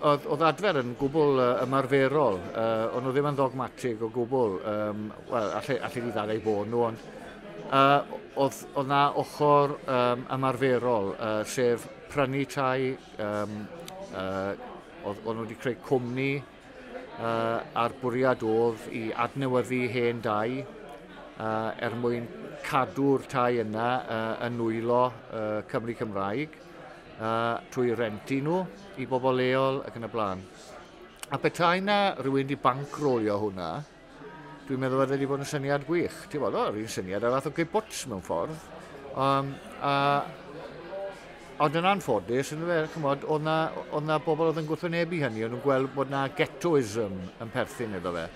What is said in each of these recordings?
Oedd Adfer yn gwbl ymarferol, o'n nhw ddim yn ddogmatig o gwbl, wel, alle di ddadlau bod nhw, ond oedd na ochr ymarferol, sef prynu tai, oedd nhw wedi creu cwmni, a'r bwriad oedd i adnewyddu hen dai, er mwyn cadw'r tai yna yn nwylo Cymru Cymraeg, trwy rentu nhw i bobl leol ac yn y blaen. A petai na rhywun wedi bankrolio hwnna, dwi'n meddwl fydde wedi bod yn syniad gwych. Ti'n bod, o'r un syniad ar fath o kibbutz mewn ffordd. Ond yn anffodus, yn fe, chymod, oedd na bobl oedd yn gwrthwynebu hynny, o'n nhw'n gweld bod na ghettoism yn perthyn iddo fe.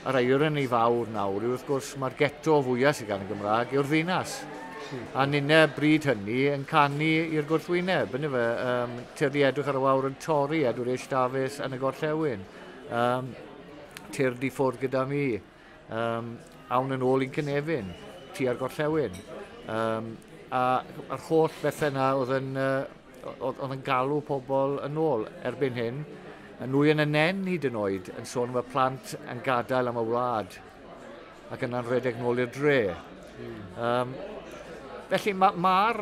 A'r irony fawr nawr yw, wrth gwrs, mae'r ghetto fwyaf sydd gan y Gymraeg yw'r ddinas. A ninne bryd hynny yn canu i'r gwrthwyneb, yn fe, tyrd i edrych ar y wawr yn torri, Edward H. Davies yn y gorllewin. Tyrd i ffwrdd gyda mi, awn yn ôl i'n cynefin, tua'r gorllewin. A'r holl bethau yna oedd yn galw pobl yn ôl erbyn hyn. Y nwy yn y nen hyd yn oed yn sôn am y plant yn gadael am y wlad ac yna'n rhedeg nôl i'r dre. Felly mae'r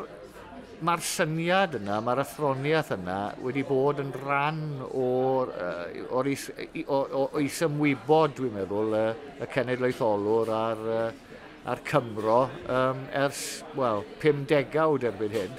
ma syniad yna, mae'r athroniaeth yna wedi bod yn rhan o'r, or is, o, o isymwybod, dwi'n meddwl, y cenedlaetholwr a'r Cymro ers, wel, 5 degawd erbyn hyn.